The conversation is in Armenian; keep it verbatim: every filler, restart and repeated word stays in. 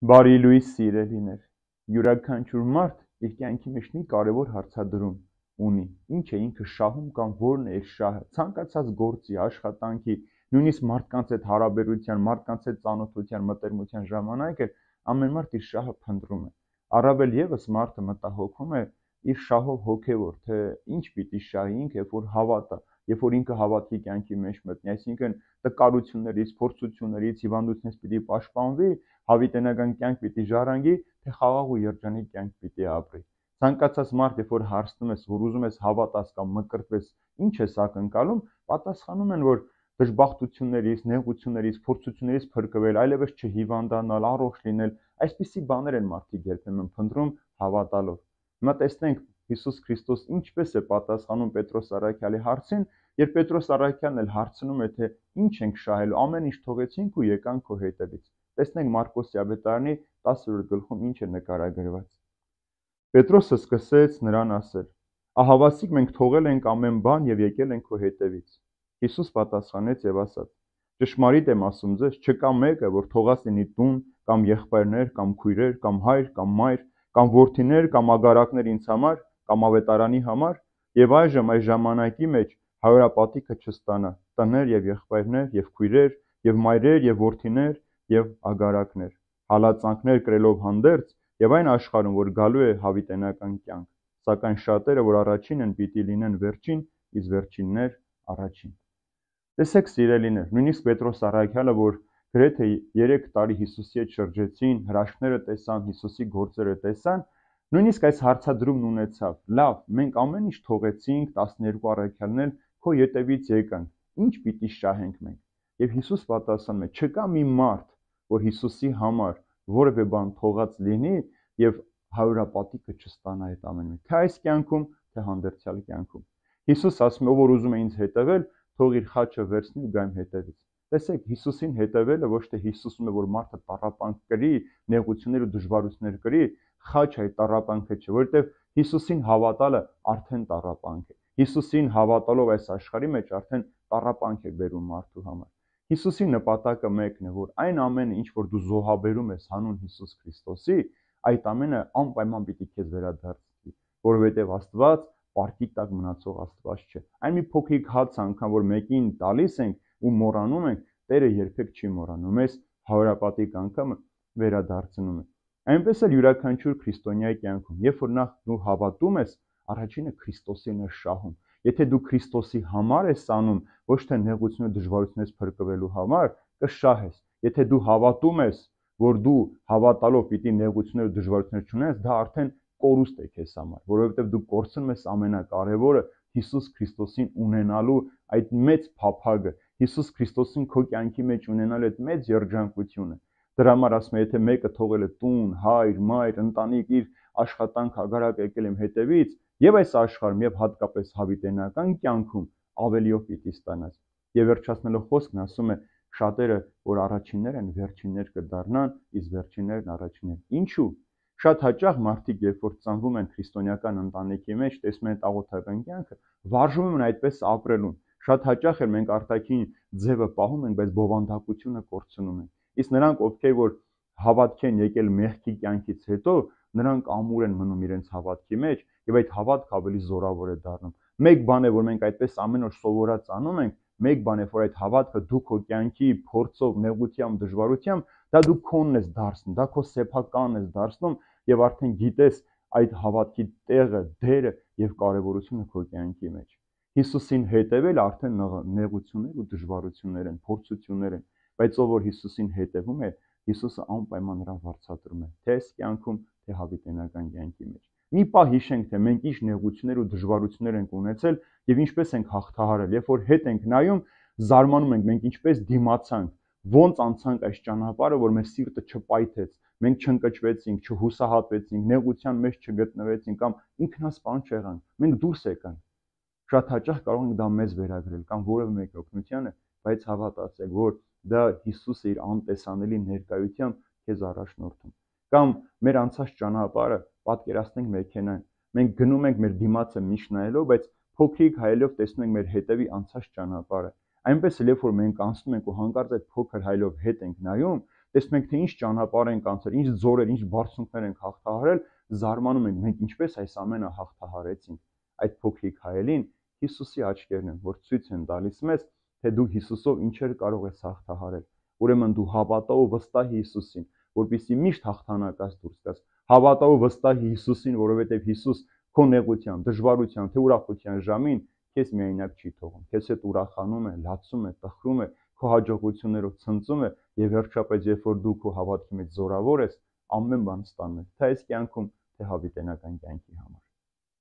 Բարի լույս սիրելիներ, յուրաքանչյուր մարդ իր կյանքի մեջ մի կարևոր հարցադրում ունի, ինչ է ինքը շահում կամ որն է իր շահը, ցանկացած գործի, աշխատանքի, նույնիսկ մարդկանց հետ հարաբերության, մարդկանց հետ ծանոթության, մտերմության ժամանակ էլ ամեն մարդ իր շահը փնտրում է, առավել ևս մարդը մտահոգում է իր շահով հոգևոր, թե ինչ պիտի շահի ինքը, երբ որ հավատա, երբ որ ինքը հավատքի կյանքի մեջ մտնի, այսինքն տկարություններից, փորձություններից, հիվանդությունից պիտի պաշտպանվի, հավիտենական կյանք պիտի ժառանգի, թե խաղաղ ու երջանիկ կյանք պիտի ապրի։ Ցանկացած մարդ, երբ որ հարցնում ես, որ ուզում ես հավատաս կամ մկրտվես, ինչ ես ակնկալում, պատասխանում են, որ դժբախտություններից, նեղություններից, փորձություններից փրկվել, այլևս չհիվանդանալ, առողջ լինել, այսպիսի բաներ են մարդիկ երբեմն փնտրում հավատալով։ Հիմա տեսնենք Հիսուս Քրիստոս ինչպես է պատասխանում Պետրոս առաքյալի հարցին, երբ Պետրոս առաքյալն էլ հարցնում է, թե ինչ ենք շահելու, ամեն ինչ թողեցինք ու եկանք քո հետևից։ Տեսնենք Մարկոսի ավետարանի տասրորդ գլխում ինչ է նկարագրված։ Պետրոսը սկսեց նրան ասել. «Ահավասիկ մենք թողել ենք ամեն բան եւ եկել ենք քո հետևից»։ Հիսուս պատասխանեց եւ ասաց. «Ճշմարիտ եմ ասում ձեզ, չկա մեկը, որ թողած լինի տուն, կամ եղբայրներ, կամ քույրեր, կամ հայր, կամ մայր, կամ որդիներ, կամ ագարակներ ինձ համար, կամ ավետարանի համար, եւ այժմ այս ժամանակի մեջ հարուրապատիքը չստանա, տներ եւ եղբայրներ, եւ քույրեր, եւ մայրեր, եւ որդիներ, եւ ագարակներ, հալածանքներ կրելով հանդերձ, եւ այն աշխարհում, որ գալու է հավիտենական կյանք, սակայն շատերը, որ առաջին են, պիտի լինեն վերջին, իսկ վերջիններ առաջին»։ Տեսեք սիրելիներ, նույնիսկ Պետրոս առաքյալը, որ գրեթե երեք տարի Հիսուսի հետ շրջեցին, հրաշքները տեսան, Հիսուսի գործերը տեսան, նույնիսկ այս հարցադրումն ունեցավ. «Լավ, մենք ամեն ինչ թողեցինք, տասներկու առաքյալն էլ քո ետևից եկանք, ինչ պիտի շահենք մենք»։ Եվ Հիսուս պատասխանում է. «Չկա մի մարդ, որ Հիսուսի համար որևէ բան թողած լինի եւ հարուրապատիքը չստանա այդ ամենը, թե այս կյանքում, թե հանդերձյալ կյանքում»։ Հիսուս ասում է, ով որ ուզում է ինձ հետևել, թող իր խաչը վերցնի ու գա իմ հետևից։ Տեսեք, Հիսուսին հետևելը ոչ թե Հիսուսում է, որ մարդը տառապանք կրի, նեղություններ ու դժվարություններ կրի, խաչը այդ տառապանքը չէ, որովհետև Հիսուսին հավատալը արդեն տառապանք է։ Հիսուսին հավատալով այս աշխարհի մեջ արդեն տառապանք է բերում մարդու համար։ Հիսուսի նպատակը մեկն է, որ այն ամենը, ինչ որ դու զոհաբերում ես հանուն Հիսուս Քրիստոսի, այդ ամենը անպայման պիտի քեզ վերադարձվի, որովհետև Աստված պարկի տակ մնացող Աստված չէ։ Այն մի փոքրիկ հաց անգամ, որ մեկին տալիս ենք ու մոռանում ենք, Տերը երբեք չի մոռանում, մեզ հարուրապատիկ անգամ վերադարձնում է։ Այնպես էլ յուրաքանչյուր քրիստոնյայի կյանքում, երբ որ նախ դու հավատում ես, առաջինը Քրիստոսին ես շահում։ Եթե դու Քրիստոսի համար ես անում, ոչ թե նեղություն ու դժվարությունից փրկվելու համար, կշահես։ Եթե դու հավատում ես, որ դու հավատալով պիտի նեղություններ ու դժվարություններ չունենաս, դա արդեն կորուստ է քեզ համար, որովհետև դու կորցնում ես ամենակարևորը Հիսուս Քրիստոսին ունենալու այդ մեծ փափագը, Հիսուս Քրիստոսին քո կյանքի մեջ ունենալու այդ մեծ երջանկությունը։ Դրա համար ասում է, եթե մեկը թողել է տուն, հայր, մայր, ընտանիք, իր աշխատանք, ագարակ եկել իմ հետևից, եւ այս աշխարհում եւ հատկապես հավիտենական կյանքում ավելիով պիտի ստանաս։ Եվ վերջացնելով խոսքն ասում է, շատերը, որ առաջիններ են, վերջիններ կդառնան, իսկ վերջիններն առաջիններ։ Ինչու՞։ Շատ հաճախ մարդիկ, երբ որ ծնվում են քրիստոնեական ընտանիքի մեջ, տեսնում են աղոթական կյանքը, վարժում են այդպես ապրելուն։ Շատ հաճախ էլ մենք արտաքին ձևը պահում ենք, բայց բովանդակությունը կորցնում ենք։ Իսկ նրանք, ովքեր որ հավատք են եկել մեղքի կյանքից հետո, նրանք ամուր են մնում իրենց հավատքի մեջ, եւ այդ հավատքը ավելի զորավոր է դառնում։ Մեկ բան է, որ մենք այդպես ամեն օր սովորած անում ենք, մեկ բան է, որ այդ հավատքը դու քո կյանքի փորձով, նեղությամբ, դժվարությամբ, դա դու քոնն ես դարձնում, դա քո սեփականն ես դարձնում եւ արդեն գիտես այդ հավատքի տեղը, դերը եւ կարեւորությունը քո կյանքի մեջ։ Հիսուսին հետևել արդեն նեղություններ ու դժվարություններ են, փորձություններ են, բայց ով որ Հիսուսին հետևում է, Հիսուսը անպայման նրան վարձատրում է, թե այս կյանքում, թե հավիտենական կյանքի մեջ։ Մի պահ հիշենք, թե մենք ինչ նեղություններ ու դժվարություններ ենք ունեցել եւ ինչպես ենք հաղթահարել, երբ որ հետ ենք նայում, զարմանում ենք, մենք ինչպես դիմացանք, ոնց անցանք այս ճանապարհը, որ մեր սիրտը չպայթեց, մենք չընկճվեցինք, չհուսահատվեցինք, նեղության մեջ չգտնվեցինք կամ ինքնասպան չեղանք, մենք դուրս եկանք։ Շատ հաճախ կարող ենք դա մեզ վերագրել կամ որևէ մեկի օգնությանը, բայց հավատացեք, որ դա Հիսուսը իր անտեսանելի ներկայությամբ քեզ առաջնորդում։ Կամ մեր անցած ճանապարհը պատկերացնենք մեքենան։ Մենք գնում ենք մեր դիմացը միշտ նայելով, բայց փոքրիկ հայելով տեսնում ենք մեր հետևի անցած ճանապարհը։ Այնպես էլ երբ որ մենք անցնում ենք ու հանկարծ այդ փոքր հայելով հետ ենք նայում, տեսնում ենք, թե ինչ ճանապարհ ենք անցել, ինչ ձորեր, ինչ բարձունքներ ենք հաղթահարել, զարմանում ենք, մենք ինչպես այս ամենը հաղթահարեցինք։ Այդ փոքրիկ հայելին Հիսուսի աչքերն են, որ ցույց են տալիս մեզ, թե դու Հիսուսով ինչեր կարող ես հաղթահարել։ Ուրեմն դու հավատա ու վստահի Հիսուսին, որպեսզի միշտ հաղթանակած դուրս գաս։ Հավատա ու վստահի Հիսուսին, որովհետև Հիսուս քո նեղության, դժվարության, թե ուրախության ժամին քեզ միայնակ չի թողում։ Քեզ հետ ուրախանում է, լացում է, տխրում է, քո հաջողություններով ցնծում է եւ վերջապես, երբ որ դու քո հավատքի մեջ զորավոր ես, ամեն բան ստանում ես, թե այս կյանքում, թե հավիտենական կյանքի համար։